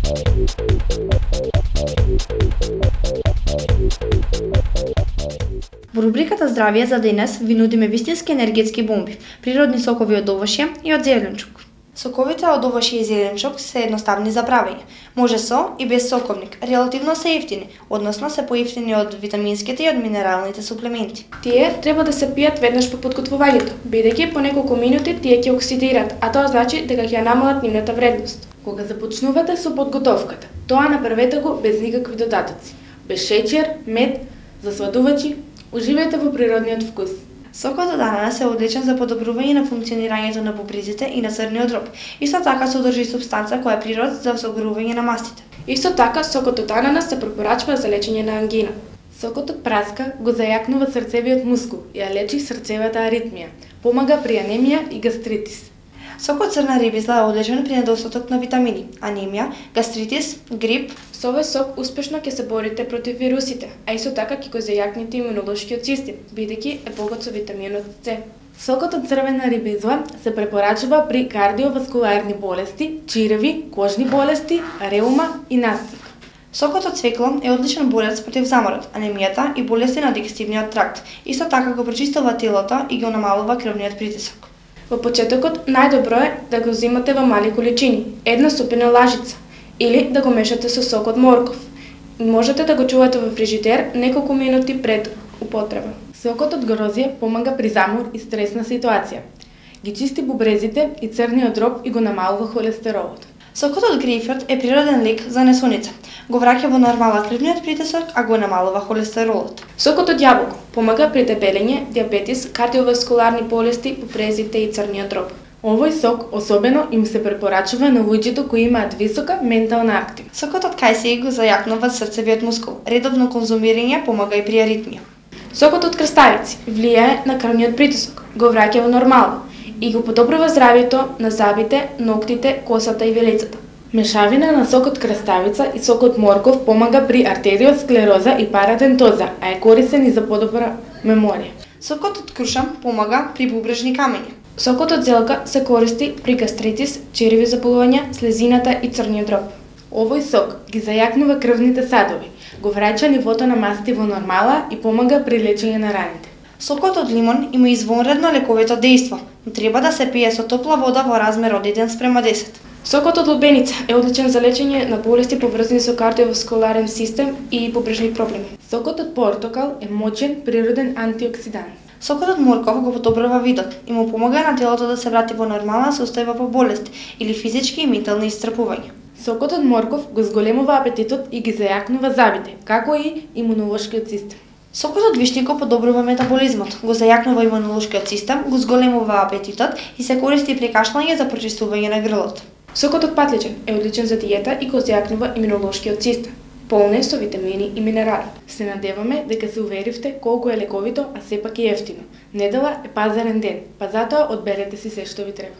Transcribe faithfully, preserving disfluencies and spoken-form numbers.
Во рубриката Здравје за денес ви нудиме вистински енергетски бомби, природни сокови од овошје и од зеленчук. Соковите од овошје и зеленчук се едноставни за правење. Може со и без соковник, релативно се ефтини, односно се поевтини од витаминските и од минералните суплементи. Тие треба да се пијат веднаш по подготвувањето, бидејќи по неколку минути тие ќе оксидират, а тоа значи дека ќе намалат нивната вредност. Кога започнувате со подготовката, тоа направете го без никакви додатоци, без шеќер, мед, засладувачи. Уживајте во природниот вкус. Сокот од ананас е одличен за подобрување на функционирањето на бубрезите и на црниот дроб. Исто така содржи супстанца која е природ за согорување на мастите. Исто така сокот од ананас се препорачува за лечење на ангина. Сокот од праска го зајакнува срцевиот мускул и ја лечи срцевата аритмија. Помага при анемија и гастритис. Сокот црна рибизла е одличен при недостаток на витамини, анемија, гастритис, грип. Со овој сок успешно ќе се борите против вирусите, а исто така ќе го зајакнете имунолошкиот систем, бидејќи е богат со витаминот С. Сокот од црвена рибизла се препорачува при кардиоваскуларни болести, чиреви, кожни болести, реума и настик. Сокот од цвекло е одличен борец против заморот, анемијата и болести на дигестивниот тракт. Исто така го прочистува телото и го намалува крвниот притисок. Во почетокот најдобро е да го земате во мали количини, една супена лажица, или да го мешате со сок од морков. Можете да го чувате во фрижидер неколку минути пред употреба. Сокот од грозје помага при замор и стресна ситуација. Ги чисти бубрезите и црниот дроб и го намалува холестеролот. Сокот од грејпфрут е природен лек за несоница. Го враќа во нормала крвниот притисок, а го намалува холестеролот. Сокот од јаболко помага при дебелење, диабетис, кардиоваскуларни болести, бубрезите и црниот дроб. Овој сок особено им се препорачува на луѓето кои имаат висока ментална активност. Сокот од кајсија го зајакнува срцевиот мускул. Редовно конзумирање помага и при аритмија. Сокот од краставици влијае на крвниот притисок, го враќа во нормално и го подобрува здравјето на забите, ноктите, косата и велицата. Мешавина на сокот краставица и сокот морков помага при артериосклероза и парадентоза, а е корисен и за подобра меморија. Сокот од круша помага при бубрежни камења. Сокот од зелка се користи при гастритис, чиреви заболувања, слезината и црниот дроб. Овој сок ги зајакнува крвните садови, го враќа нивото на масти во нормала и помага при лечење на раните. Сокот од лимон има извонредно лековито дејство, но треба да се пие со топла вода во размер од еден спрема десет. Сокот од лубеница е одличен за лечење на болести поврзани со кардиоваскуларен систем и бубрежни проблеми. Сокот од портокал е мочен природен антиоксидант. Сокот од морков го подобрува видот и му помага на телото да се врати во нормална состојба по болести или физички и ментални исцрпувања. Сокот од морков го зголемува апетитот и ги зајакнува забите, како и имунолошкиот систем. Сокот од вишникот подобрува метаболизмот, го зајакнува имунолошкиот систем, го зголемува апетитот и се користи при кашлање за прочистување на грлото. Сокот од патличен е одличен за диета и го зајакнува имунолошкиот систем. Полне со витамини и минерали. Се надеваме дека се уверивте колку е лековито, а сепак и ефтино. Недела е пазарен ден, па затоа одберете си се што ви треба.